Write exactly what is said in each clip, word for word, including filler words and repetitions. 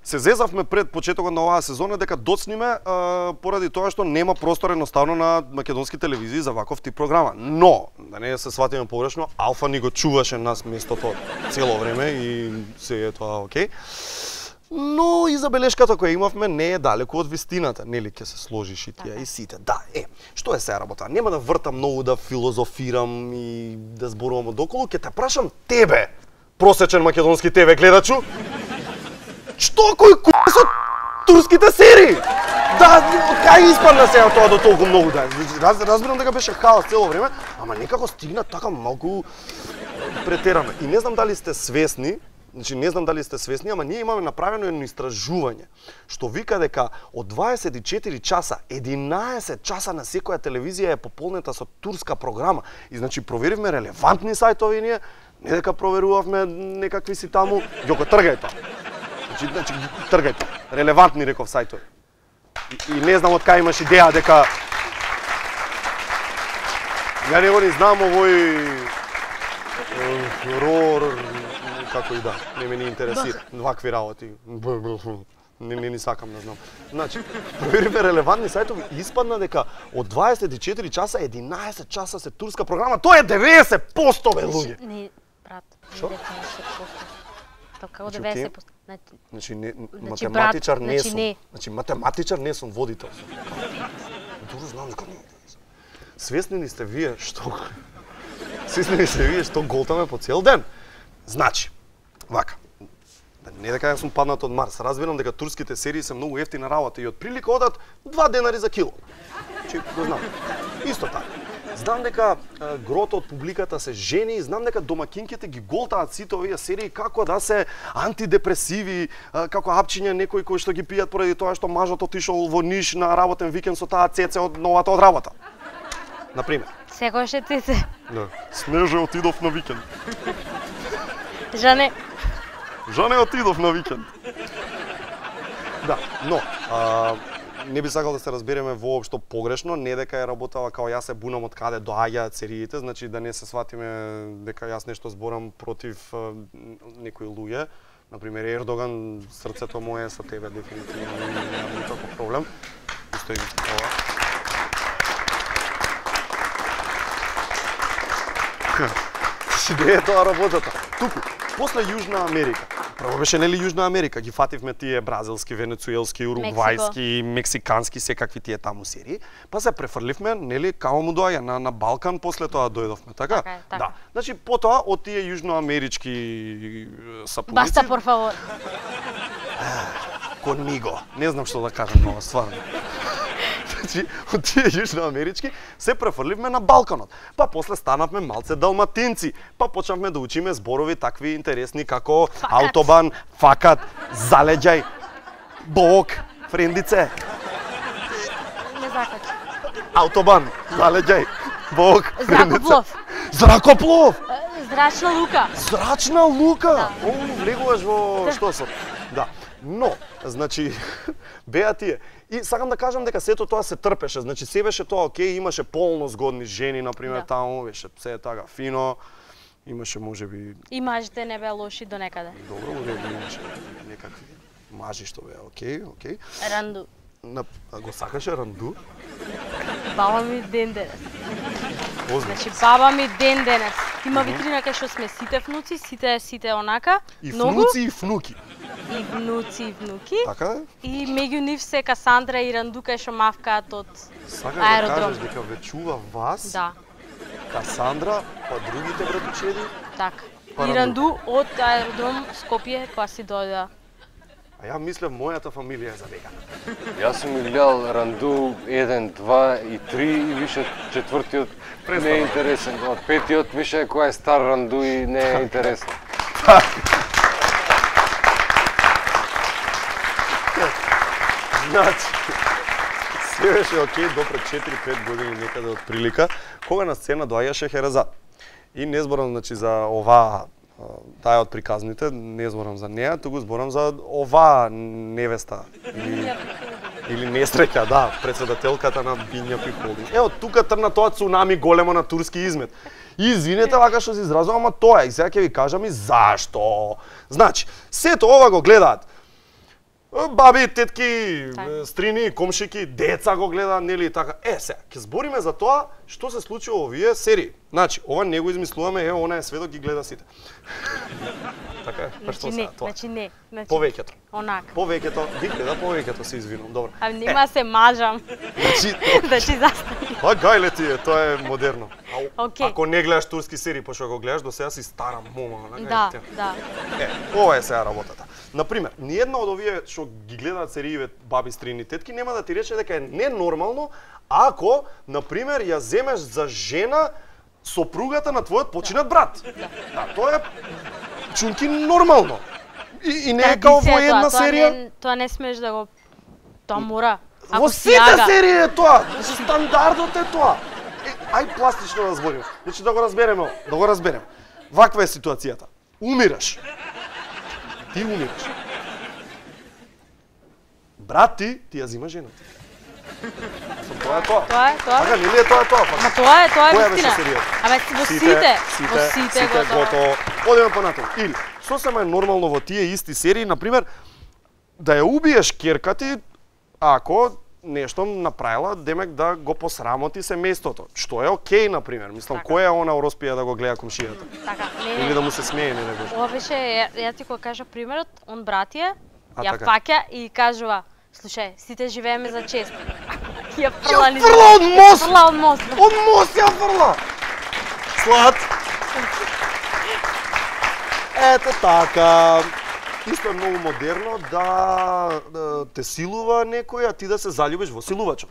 се зезавме пред почетокот на оваа сезона дека доцниме поради тоа што нема простор едноставно на македонски телевизии за ваков тип програма. Но, да не се сватиме погрешно, Алфа ни го чуваше нас местото цело време и се е тоа окей. Но и забелешката која имавме не е далеку од вистината, нели ќе се сложиш и тие и сите. Да, е, што е се работа? Нема да вртам многу, да филозофирам и да зборувам одоколу, ќе те прашам тебе, просечен македонски те ве гледачу, што кој ку со турските серии? Да, кај испадна сега тоа до толку многу да. Раз, разбирам дека беше хаос цело време, ама некако стигна така малку претерано. И не знам дали сте свесни, значи не знам дали сте свесни, ама ние имаме направено едно истражување што вика дека од дваесет и четири часа, единаесет часа на секоја телевизија е пополнета со турска програма. И значи проверивме релевантни сајтови ние, не дека проверувавме некакви си таму, ги го тргај тоа. Значи, значи тргај тоа. Релевантни реков сајтови. И, и не знам од кај имаш идеја дека ја не го ни знам овој рор како и да, не ме ни интересира. Вакви работи. Не, не ни сакам да знам. Значи, проверивме релевантни сајтови и испадна дека од дваесет и четири часа, единаесет часа се турска програма. Тоа е деветдесет проценти бе луѓе. Не, брат, Шо? деветдесет проценти. Како Значи, деветдесет проценти. Значи, не, Значи, математичар брат, не значи, сум. не. Значи, математичар не сум, водител сум. Дуро знам дека не. Свесни ли сте вие што Свесни ли сте вие што голтаме по цел ден? Значи, вака. Не дека ја сум паднат од Марс, разбирам дека турските серии се многу ефтина работа и од прилика одат два денари за кило. Значи, го знам. Исто така. Знам дека е, грото од публиката се жени и знам дека домакинките ги голтаат сите овие серии како да се антидепресиви, е, како апчиња некои кои што ги пијат поради тоа што мажот отишол во Ниш на работен викенд со таа цеце од новата од работа. Например. Секој ше цеце. Да. Снеже отидов на викенд. Жане. Жане отидов на викенд. Да, но а, не би сакал да се разбереме воопшто погрешно, не дека е работава као јас се бунам од каде доаѓаат сериите, значи да не се сватиме дека јас нешто зборам против а, некои луѓе. Например, Ердоган, срцето мое е со тебе дефинитивно, немам никаков проблем. Исто и ова. Де е тоа работата? Туку, после Јужна Америка. Прво беше нели Јужна Америка, ги фативме тие бразилски, венецуелски, уругвајски, мексикански, секакви тие таму серии, па се префрливме нели као му доаѓа на на Балкан, после тоа дојдовме, така? Така е, така. Да. Значи потоа од тие јужноамерички сапуници. Баста, por favor. Conmigo. Не знам што да кажам нова, стварно. Значи, од тие јужноамерички се префрливме на Балканот. Па после станавме малце далматинци. Па почнавме да учиме зборови такви интересни како факат, аутобан, факат, залеѓај, бок, френдице. Не закач. Аутобан, залеѓај, бок, френдице. Зракоплов. Зракоплов! Зрачна лука. Зрачна лука! Да. О, влегуваш во што со? Да. Но, значи, беа тие. И сакам да кажам дека сето тоа се трпеше. Значи, се беше тоа окей, имаше полно згодни жени, например, Да. таму, беше се така фино. Имаше можеби И мажите не беа лоши до некаде. добро, уредно имаше некакви мажи што беа окей, окей. Ранду. На, а го сакаше Ранду? Баба ми ден денес. Озбилно. Значи баба ми ден денес. Има витрина кај што сме сите внуци, сите сите онака, И многу внуци и внуки. и внуци и внуки. Така е? И меѓу нив се Касандра и Ранду кај што мавкаат од Сакаш да аеродром. кажеш дека ве чува вас, Да, Касандра, па другите братучеди? така. Па И Ранду. Ранду од аеродром Скопје кога си дојде. А ја мислев мојата фамилија е забегана. Јас сум ги гледал Ранду еден, два и три и више четвртиот не е интересен. Од петиот више кој е стар Ранду и не е интересен. Значи, се беше окей до пред четири-пет години некаде од прилика, кога на сцена доаѓаше Херезад. И не зборам значи за оваа таа од приказните, не зборам за неа, туку зборам за оваа невеста или, или несреќа, да, председателката на Бинја Пихолдинг. Ево тука трна тоа цунами големо на турски измет. И извинете вака што се изразувам, ама тоа е. И сега ќе ви кажам и зашто. Значи, сето ова го гледаат баби, тетки, Така. стрини, комшики, деца го гледа, нели така. Е, сега, ќе збориме за тоа што се случи во овие серии. Значи, ова не го измислуваме, е, она е сведок ги гледа сите. Така е, па што Значи не, сега тоа? значи не. Значи Повеќето. Онака. Повеќето, ги гледа повеќето, се извинувам, добро. А нема се мажам. Значи, Значи застани. па гајле ти е, тоа е модерно. А, Окей. Ако не гледаш турски серии, пошто го гледаш, до сега си стара мома. онака, Да, е, да. Е, ова е сега работата. Например, ниедна од овие што ги гледаат сериите баби, стрини, тетки нема да ти рече дека е ненормално ако, например, ја земеш за жена сопругата на твојот починат брат. Да, тоа е чунки нормално. И, и не е као во Традиција е една тоа, тоа серија. не, тоа не смеш да го... Тоа мора. Во Ако сите сјага. серии е тоа. Стандардот е тоа. Е, ај пластично да збориме. Значи да го разбереме, да го разбереме. Ваква е ситуацијата. Умираш. Ти умираш. Брат ти ти ја зима жената. Тоа е тоа. Тоа е, тоа. Така, нели е тоа тоа? Па, Ма тоа е, тоа е која беше вистина. серијата? Абе, во сите, во сите готово. готово. Одеме понатаму. Или, сосема е нормално во тие исти серии, например, да ја убиеш ќерка ти, ако нешто направила, демек да го посрамоти семејството. Што е окей, например. Мислам, Така. кој е она Ороспија да го гледа комшијата? Така, не, Или не. да му се смее, не да го. Ова беше, ја, ја ти го кажа примерот, он братија, А, ја така. фаќа и кажува, слушај, сите живееме за чест. Ја Ја фрла низ- фрла од мост! Фрла од мост. Од мост ја фрла! Слад! Ето така. Исто е многу модерно да, да те силува некој, а ти да се заљубиш во силувачот.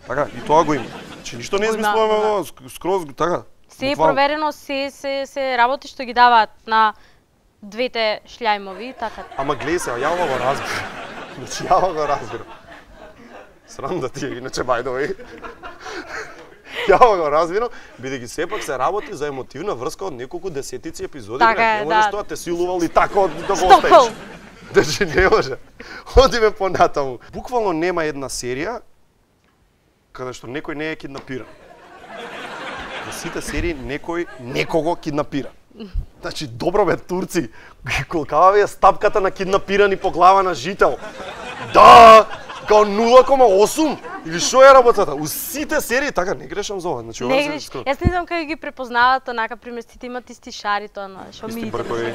Така, и тоа го има. Значи ништо не Го има, измислуваме го има. го, ск- скроз така. Се е буквално. проверено, се, се, се работи што ги даваат на двете шљајмови, така. Ама гледај се, ја ова го разбирам. Значи ја ова го разбирам. Срам да ти е, иначе by the way. Ја ова го разбирам, бидејќи сепак се работи за емотивна врска од неколку десетици епизоди, Така брат. е, Не можеш да. тоа те силувал и така од- да го Стокхолм. оставиш. Значи не може. Одиме понатаму. Буквално нема една серија каде што некој не е киднапиран. Во сите серии некој некого киднапира. Значи, добро бе, турци, колкава ви е стапката на киднапирани по глава на жител? Да, као нула кома осум или што е работата? У сите серии така не грешам за ова. Значи, ова Не се греш. скро- Јас не знам како ги препознаваат, онака пример сите имат исти шари тоа на што Исти ми бркови.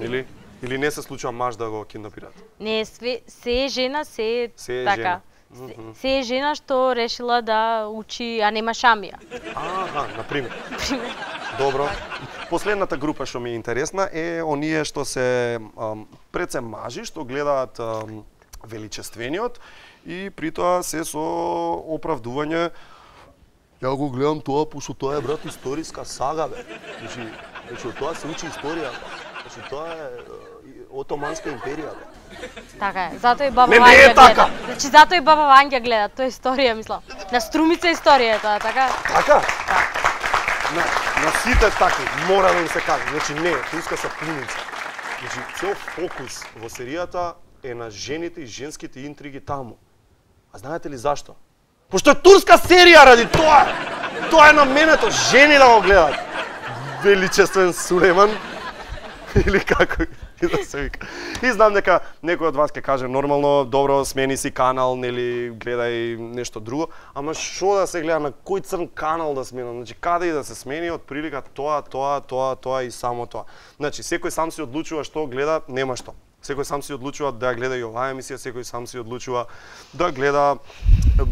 Или или не се случува маж да го киднапираат. Не, све, се е жена, се е Се е така. жена. Се, се е жена што решила да учи, а нема шамија. Аха, на пример. Добро. Последната група што ми е интересна е оние што се ам, пред се мажи, што гледаат ам, величествениот и при тоа се со оправдување ја го гледам тоа, пошто тоа е, брат, историска сага, бе. Значи, значи од тоа се учи историја, бе. Значи, тоа е е, Отоманска империја, бе. Така е. Затоа и баба Не, не Вања е така. гледа. Значи затоа и баба Вања гледа, тоа е историја, мислам. На Струмица е историја е тоа, така? Така? На, на сите такви, мора да им се каже. Значи не, турска сапуница. Значи цел фокус во серијата е на жените и женските интриги таму. А знаете ли зашто? Пошто е турска серија ради тоа! Тоа е наменето, жени да го гледат. Величествен Сулейман. Или како и да се вика. И знам дека некој од вас ќе каже нормално, добро, смени си канал, нели, гледај нешто друго, ама што да се гледа, на кој црн канал да сменам? Значи каде и да се смени, од прилика тоа, тоа, тоа, тоа и само тоа. Значи секој сам си одлучува што гледа, нема што. Секој сам си одлучува да гледа и оваа емисија, секој сам си одлучува да гледа е, е,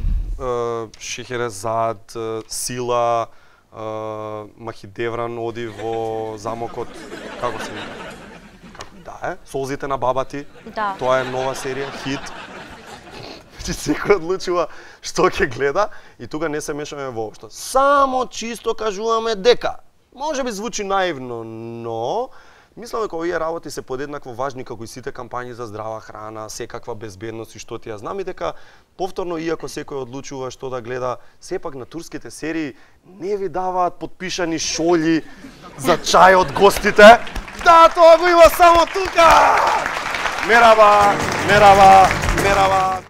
Шехерезад, е, Сила, е, Махидевран оди во замокот, како се вика? Како да е? Солзите на баба ти. Да. Тоа е нова серија, хит. Значи секој одлучува што ќе гледа и тука не се мешаме воопшто. Само чисто кажуваме дека може би звучи наивно, но мислам дека овие работи се подеднакво важни како и сите кампањи за здрава храна, секаква безбедност и што ти ја знам и дека повторно иако секој одлучува што да гледа, сепак на турските серии не ви даваат подпишани шолји за чај од гостите. Да, тоа го има само тука! Мераба, мераба, мераба.